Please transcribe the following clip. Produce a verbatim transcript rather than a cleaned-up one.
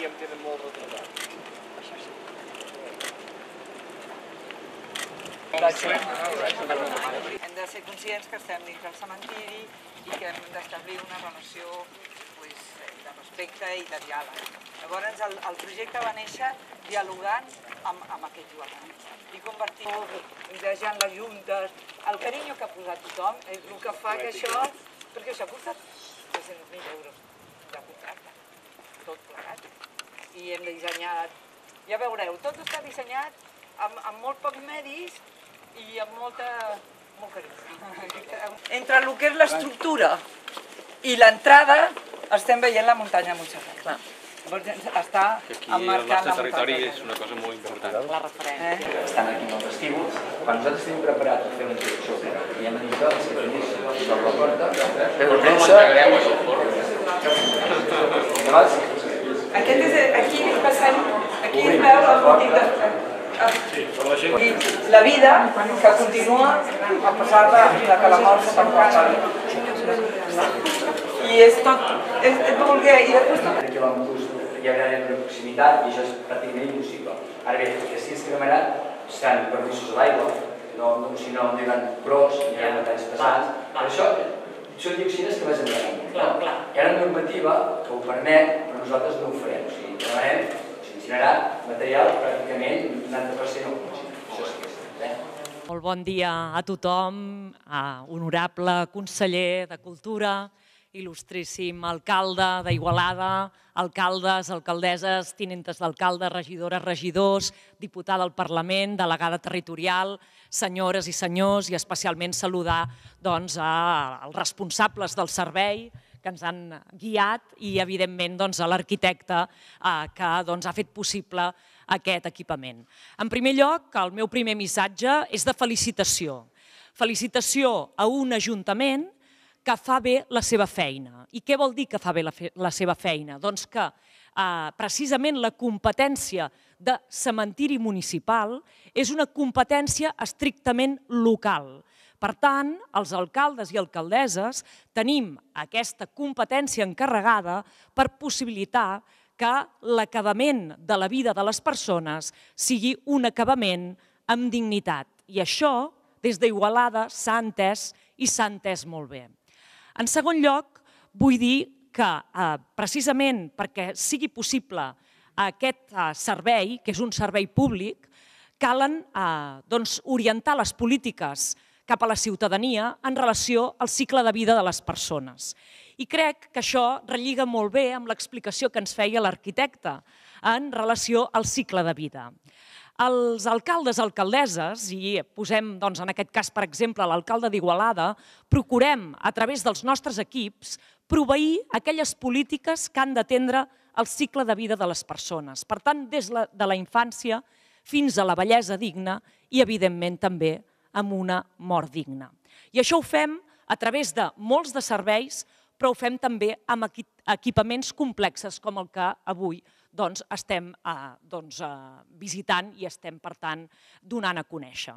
ja em tenen molt retratat. Hem de ser conscients que estem dins del cementiri i que hem d'establir una relació de respecte i de diàleg. Llavors el projecte va néixer dialogant amb aquest Joan i convertir-ho, desejant les juntes. El carinyo que ha posat tothom és el que fa que això, perquè això ha costat tres-cents mil euros de contracte, tot plegat. I hem dissenyat, ja veureu, tot està dissenyat amb molt pocs medis i amb molta, molt carinyo. Entre el que és l'estructura i l'entrada estem veient la muntanya de Montserrat. Està emmarcant la muntanya. Aquí el nostre territori és una cosa molt important. La referència. Estan aquí en el vestíbul. Quan nosaltres tenim preparat per fer una introducció i hem dit que els primers s'obre la porta, per premsa... Aquest és... Aquí passem... Aquí es veu el bòtic de... I la vida que continua a pesar de que la mort s'emporta. I és tot... és voler... I després tot... quilòmetres hi haurà de proximitat i això és pràcticament impossible. Ara bé, que sí que demanat seran permisos a l'aigua, si no hi haurà pros, hi haurà metalls pesats, però això són dioxines que vas endavant. Hi ha una normativa que ho permet, però nosaltres no ho farem. O sigui, demanem, s'incinerarà material pràcticament un noranta per cent o això sí que és. Molt bon dia a tothom, honorable conseller de Cultura, il·lustríssim alcalde d'Igualada, alcaldes, alcaldesses, tinentes d'alcalde, regidores, regidors, diputada al Parlament, delegada territorial, senyores i senyors, i especialment saludar els responsables del servei que ens han guiat i, evidentment, a l'arquitecte que ha fet possible aquest equipament. En primer lloc, el meu primer missatge és de felicitació. Felicitació a un ajuntament que fa bé la seva feina. I què vol dir que fa bé la seva feina? Doncs que precisament la competència de cementiri municipal és una competència estrictament local. Per tant, els alcaldes i alcaldesses tenim aquesta competència encarregada per possibilitar que l'acabament de la vida de les persones sigui un acabament amb dignitat. I això, des d'Igualada, s'ha entès i s'ha entès molt bé. En segon lloc, vull dir que precisament perquè sigui possible aquest servei, que és un servei públic, calen orientar les polítiques cap a la ciutadania en relació al cicle de vida de les persones. I crec que això relliga molt bé amb l'explicació que ens feia l'arquitecte en relació al cicle de vida. Els alcaldes, alcaldesses, i posem en aquest cas, per exemple, l'alcalde d'Igualada, procurem, a través dels nostres equips, proveir aquelles polítiques que han d'atendre el cicle de vida de les persones. Per tant, des de la infància fins a la vellesa digna i, evidentment, també amb una mort digna. I això ho fem a través de molts de serveis, però ho fem també amb equipaments complexes com el que avui estem visitant i estem, per tant, donant a conèixer.